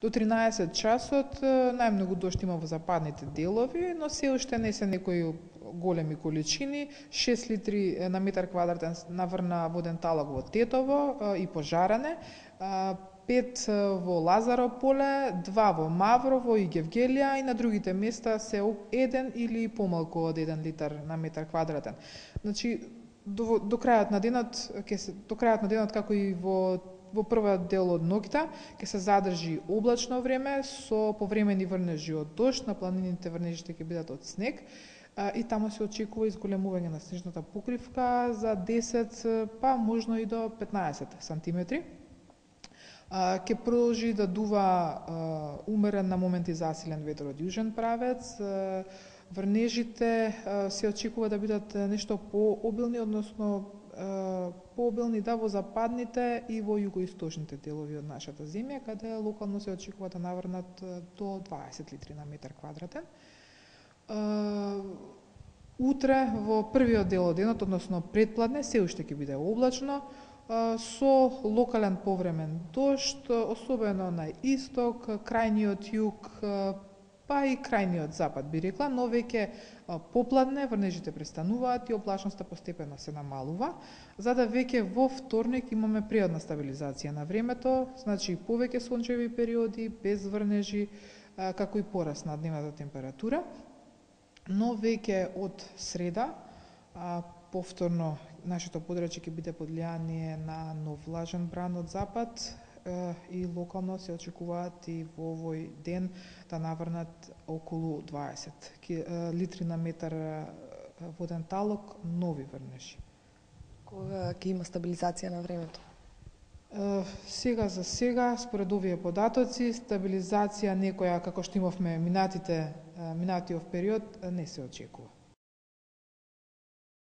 До 13 часот најмногу дожд има во западните делови, но се уште не се некои големи количини. 6 литри на метар квадратен наврна воден талок во Тетово и Пожаране, 5 во Лазаро поле, 2 во Маврово и Гевгелија, и на другите места се 1 или помалку од 1 литар на метар квадратен. Значи до крајот на денот, како и во првиот дел од ноќта, ќе се задржи облачно време со повремени врнежи од дожд, на планините врнежите ќе бидат од снег, и таму се очекува изголемување на снежната покривка за 10, па можно и до 15 сантиметри. Ќе продолжи да дува умерен на моменти засилен ветер од јужен правец. Врнежите се очекува да бидат нешто пообилни, односно пообилни во западните и во југоисточните делови од нашата земја, каде локално се очекува да наврнат до 20 литри на метар квадратен. Утре во првиот дел од денот, односно предпладне, се уште ќе биде облачно, со локален повремен дожд, особено на исток, крајниот југ, па и крајниот запад, би рекла, но веќе попладне врнежите престануваат и облачноста постепено се намалува, за да веќе во вторник имаме пријатна стабилизација на времето, значи повеќе сончеви периоди, без врнежи, како и пораст на дневната температура. Но веќе од среда, повторно нашето подрачје ќе биде под влијание на нов влажен бран од запад, и локално се очекуваат и во овој ден да наврнат околу 20 литри на метар воден талок, нови врнежи. Кога ќе има стабилизација на времето? Сега за сега, според овие податоци, стабилизација некоја како што имавме минатиот период не се очекува.